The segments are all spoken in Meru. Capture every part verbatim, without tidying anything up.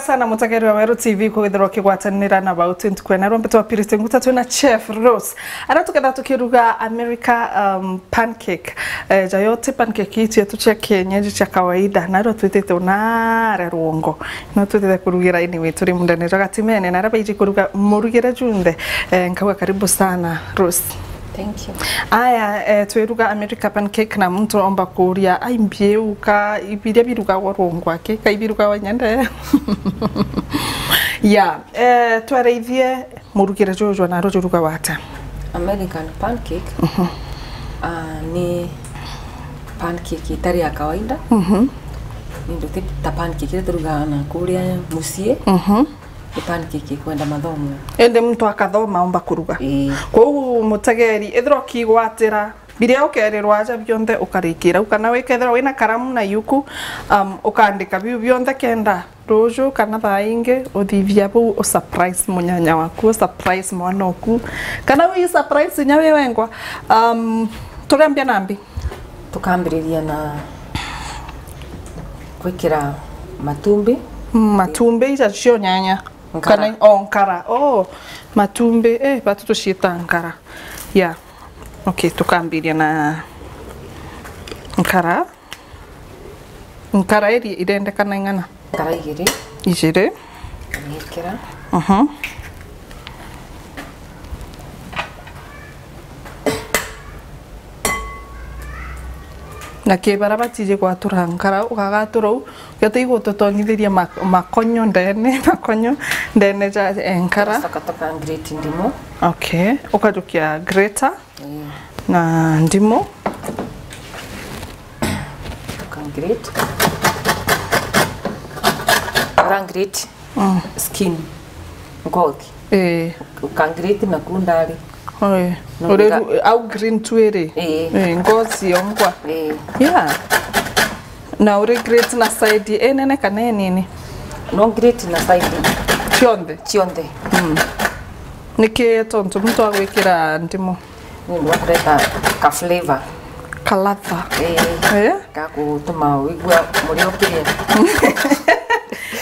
sana mutegeri wa Weru T V kwithirwa ukigwatanira na bau twenty kwena rwambe twa Pirite Nguta twina Chef Rose. Ara tuketha tukiruga America, um, pancake. Eh, jayo ti pancake ici cietu cia kienyeji cia kawaida, narua twitite unare rwongo. No twitite kurugira ini witu ri mundene jwa gatimene, na ara baiji kuruga murugire junthe. Eh, nkauga karibu sana, Rose. Thank you. Aya, eh, twiruga America pancake na muntu omba kuria, ai mbiu ka ibiria birugagwa rwongo aki, ka ibirugagwa nyende. Ya, eh, twarithie murugire juju na ruju ruga wata. American pancake, ah, ni pancake itari ya kawaida. Mhm. Ni ndu ti ta pancake iria turugaga na kuria mucii. Mhm. Ni pancake ikwenda mathomo. Indi muntu akathoma omba kuruga. Ii. Kwou mutegeri, ethirwa ukigwatira biria ukerirwa aja bionthe ukarikira u, kana wikethirwa wina karamu na yuku, um, ukaandika biu bionthe kenda ruju kana thaa ingi uthithia buu u surprise munyanya waku, u surprise mwana oku, kana wi surprise inya wi wengwa. Um, turiambia nambi? Tukambiriria na gwikira matumbi. Mm, matumbi ica cio nyanya. Nkara. Kana o nkara. Oh, matumbi, eh, batu tuciita nkara. Yeah. Okay, tukambiria na nkara. Nkara iri irendekana ing'ana? Nkara igiri. Igiri. Ngikira. Mhm. Na ki bara batiji gwatura nkara, ukagatura u, gete igututonyithiria ma-, makonyo ndene, makonyo ndene ja, eh, nkara. Tugacoka tuka grate ndimu. Okay, ukajukia grater. Ii. Na ndimu. Tuka grate. Ura grate. Mm. Skin. Ngothi. Ii. Uka grate na kundari. Oi. No. Uri ru-, au green tu iri? Ii. Ii, ngothi yongwa. Ii. Yeah. Na uri grate na side inene kana inini? No grate na side. Cionthe? Cionthe. Mm. Niki tontu muntu agwikira ndimu? Ni ndu wa kureta ka flavor. Ka ladha. Ii. Eh? Ga gutuma wigua murio ukiria.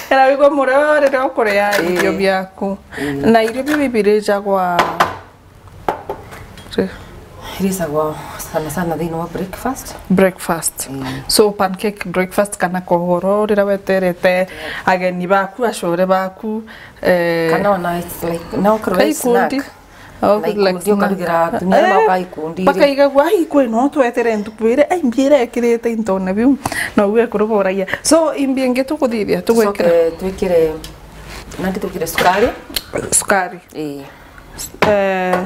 Kana wigua murio riria ukuria irio biaku. Ii. Na irio biu birijagwa ri? Irijagwa sana sana thiini wa breakfast. Breakfast. Ii. So pancake breakfast kana kogoro riria weterete ageni baku, acore baku, eh, kana ona it's like, no okorwo i ikundi. Snack. Oh, na like ikundi snack. Ukarugira atumia, eh, na uka ikundi iri. Bakaigagua, "Ai, kwi no twetere ntuku iri, ai, mbi irekirite intone biu." Na uge kuruboragia. So, imbi ingi tukuthithia, tugwikira? Tucoke twikire, nandi twikire sukari. Sukari. Ii. Eh,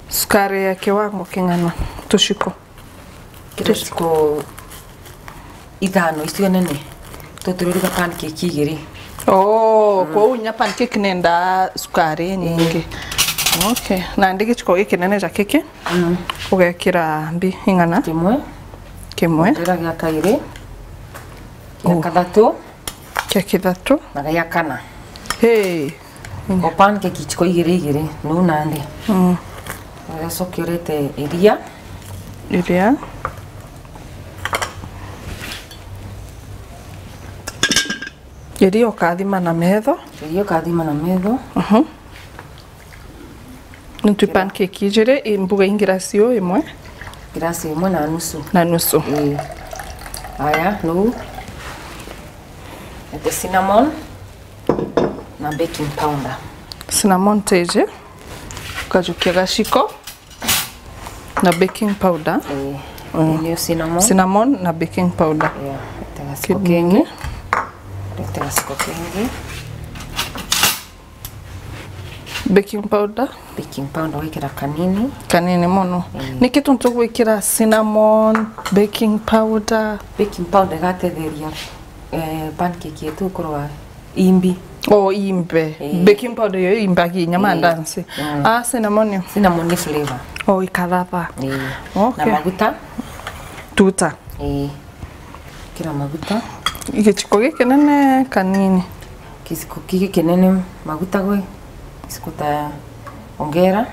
sukari ya kiwango king'ana? Tuciko. Kira ciko ithano icio nene, tutiriruga pancake igiri. Oh, mm. Kwou nya pancake nenda sukari nyingi. Okay. Nandi giciko giki nene ja kiki, mm, ugekira mbi ing'ana? Kimwe. Kimwe. Kira gia kairi. Gia, oh, kathatu. Kia kithatu. Na gia kana. Hey. O pancake iciko igiri igiri, nuu nandi. Mm. Ugacoka urete iria. Iria. Iria ukathima na metho. Iria ukathima na metho. Mhm. Nitwi pancake ijiri, i mbuga ingirasi uu imwe? Ngirasi imwe na nusu. Na nusu. Ii. Aya, nuu. Ete cinnamon na baking powder. Cinnamon teje, ukajukia gaciko na baking powder. Ii. Mm. Niyo cinnamon. Cinnamon na baking powder. Yeah. Ete gaciko kingi. Ete gaciko kingi. Baking powder. Baking powder wikira kanini. Kanini mono. Mm. Niki tuntu gwikira cinnamon, baking powder? Baking powder igatetheria, eh, pancake yetu gukorwa imbi. Oh, imbe. Eh. Baking powder iyo imbagia inya mandazi. Mm. Ah, cinnamon. Cinnamon ni flavor. Oh, ikathava. Eh. Okay. Na maguta. Tuta. Eh. Kira maguta. Giciko gikinene kanini. Giciko giki kinene maguta gwe. Giciko ta ongera.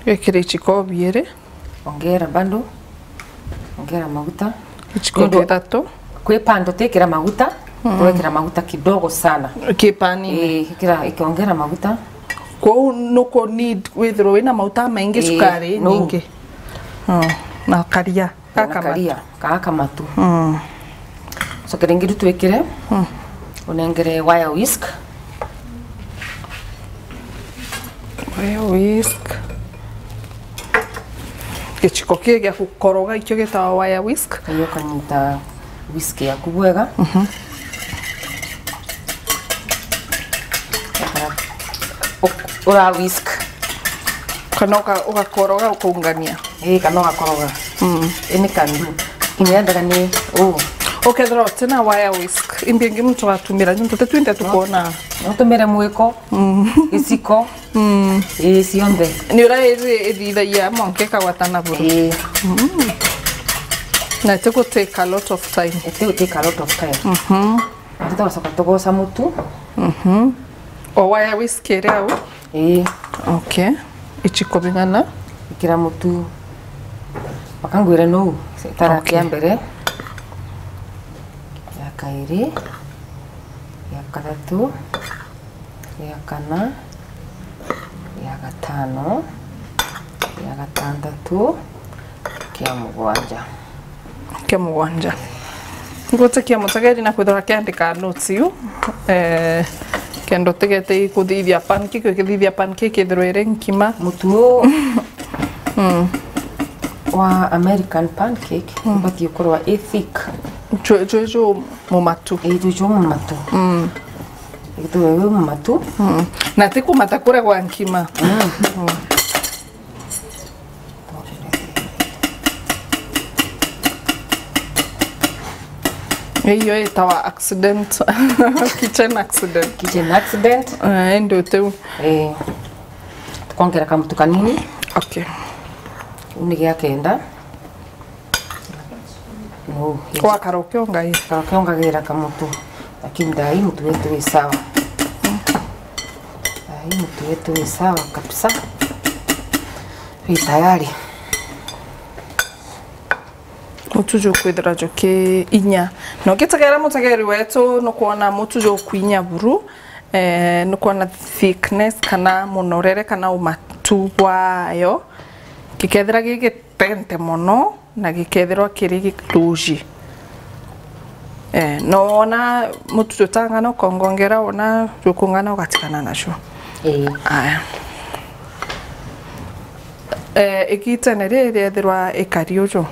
Wikire iciko biiri. Ongera bado. Ongera maguta. Iciko kithatu. Kwi bando tikira maguta. Tugekira maguta kidogo sana. Ki panini. Ii, ikira, ikiongera maguta. Kwou nuku need withirwe wina maguta maingi, ii, cukari, no, nyingi. Oh, na karia. Na gaka matu. Karia, gaka matu. Mm. Coke ringi riu twikire, mm, unengere wire whisk. Wire whisk. Giciko kii gia gukoroga ikio gitawa wire whisk. Iyo ukanyita whisk yaku bwega. Mhm. Ura whisk. Kana uka-, ugakoroga, ukaungania. Ii, kana ugakoroga. Mm. Any can do. Kinya endaga ni uu. Ukethira utina wire whisk, imbi ingi muntu atumira, nontu ti twinthe tukwona. No utumire mwiko, mm, giciko. Mm. Ii, cionthe. Ni uria iri ithithagia mwanka ikagwatana buru. Ii. Mm. Na iti gu take a lot of time. Iti gu take a lot of time. Mhm. Tugacoka tugoca mutu. Mhm. O wire whisk iri au? Ii. Okay. Ichiko bing'ana? Ikira mutu. Bakangwire nuu, itara, okay, kia mbere, ya kairi, ya kathatu, ya kana, ya gatano, ya gatantatu, kia mugwanja. Kia mugwanja. Ngwitikia mutegeri na kwithirwa akiandika notes iu, eh, kenda utigete ikuthithia pancake, ukithithia pancake ithirwe iri nkima. Mutu uu, mm, wa American pancake, mm, ubatie ukorwa i thick. Jwi, jwi jumumatu. Ii, jwi jumumatu. Mm. Ithirwe wi mumatu. Mm. Na ti kumata kuria gwa nkima. Mm. Mm. Iyo itawa accident. Kitchen accident. Kitchen accident. Eh, indi utiu. Eh, tukongera kamutu kanini. Okay. Uu ni gia kenda. No, gwakara ukiongaira. Ukara ukiongagira kamutu. Lakini thaa hii mutu wetu wi sawa. Thaa hii mutu wetu wi sawa kabisa. Wi tayari. Mutu jukwithira juki inya. Na ugitegera mutegeri wetu, nukwona mutu jukwinya buru, eh, nukwona thickness kana munorere kana umatu bwayo. Gikethira gigi tente mono na gikethirwa kiri gituji. Eh, no wona mutu jutang'ana ukongongera, wona jukung'ana ugatigana nacio. Ii. Aya. Eh, igitene riri riethirwa ikari uju,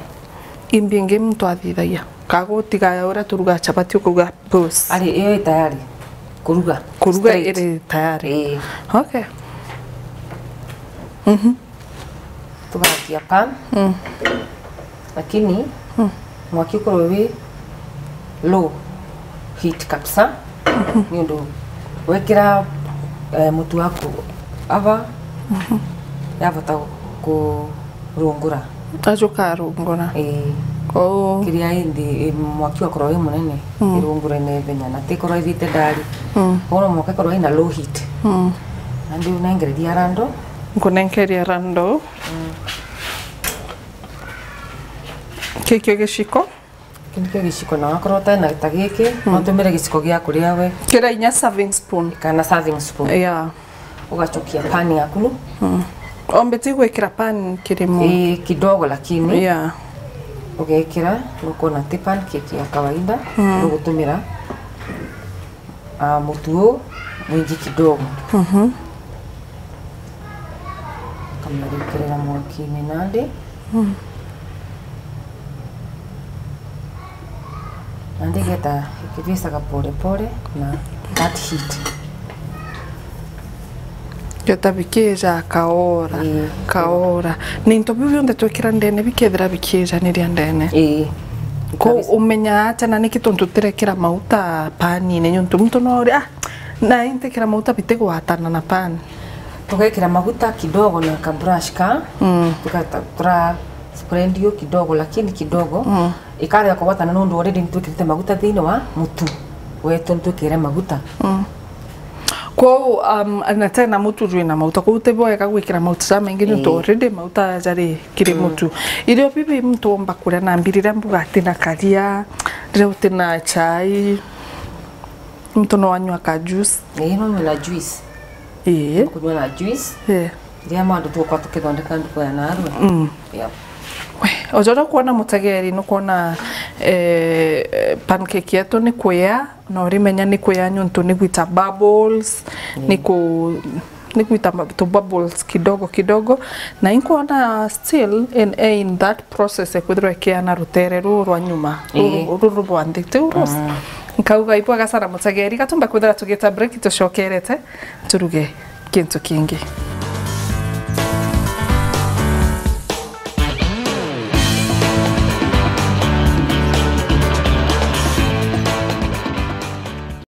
imbi ingi muntu athithagia? Ka gutiga uria turuga chapati ukauga pause. Ari, iyo i tayari kuruga. Kuruga straight. Iri tayari. Ii. Okay. Mhm. Tugakia pan. Mm. Lakini, mm, mwaki ukorwe wi low heat kabisa. Mhm. Niundu wekira, eh, mutu waku ava, mhm, yavota kurungura. Ajuka arungura. Ii. Kou. Kiria indi, i, mwaki ugakorwa wi munene, mm, irungure na ihenya, na tikorwa ithite ndari. Mm. Koguo no mwanka ikorwa ina low heat. Mm. Nandi unengereria rando. Nkunenkeria rando. Mm. Kikio giciko. Kii nikio giciko, na wakorwo utai na ta giki, mm, no utumire giciko gia kuria we. Kiria inya serving spoon. Kana serving spoon. Yeah. Ugachukia pan yaku nu. Mm. Ombe ti gwikira pan kirimo. Ii, kidogo lakini. Yeah. Ugekira, nukwona ti pancake ya kawaida, mm, nugutumira, ah, mutu uu mwingi kidogo. Mhm. Kamariukirira mwakini nandi. Mm. Nandi geta ikivisaga pole pole na that heat. Geta bikija kaora, ii, kaora. Ni into biu bionthe twikira ndene bikethira bikijaniria ndene. Ii. Ko kabisa. Umenya atia na niki tontu tirekira mauta panine? Niuntu muntu no uri, ah, na intekira mauta bitigwatana na pan. Tugekira maguta kidogo na ka brush ka, mm, tukata-, tura spread yo kidogo, lakini kidogo. Mm. Ikarega kugwatana nondu already nitwikirite maguta thiini wa mutu wetu, nitwikire maguta. Mm. Kwou, um, na tena mutu jwina mauta, kwou ti bwega gwikira mauta jamaingi niuntu, ii, already mauta jari kiri, mm, mutu. Irio bibi muntu omba kuria na mbiri riria mbuga atina karia, riria utina chai. Muntu no anyua ka juice. Ii, no nywe na juice. Ii. Kunywa na juice. Ii. Iria mandu tukwa tukithondeka nduko ya narua. Mm. Yep. We, ojoria kwona mutegeri, nukwona, eh, pancake yetu ni kuya, na urimenya ni kuya niuntu ni gwita bubbles, ni ku-, ni gwita ma-, tu bubbles kidogo kidogo, na inkwona still in, in that process ekwithirwa ikiana rutere ruru rwa nyuma, ruru, ruru rwa nthi, tiu Rose? Nkauga ibwega sana mutegeri, gatumba kwithira tugita break, tucokerete turuge kintu kingi.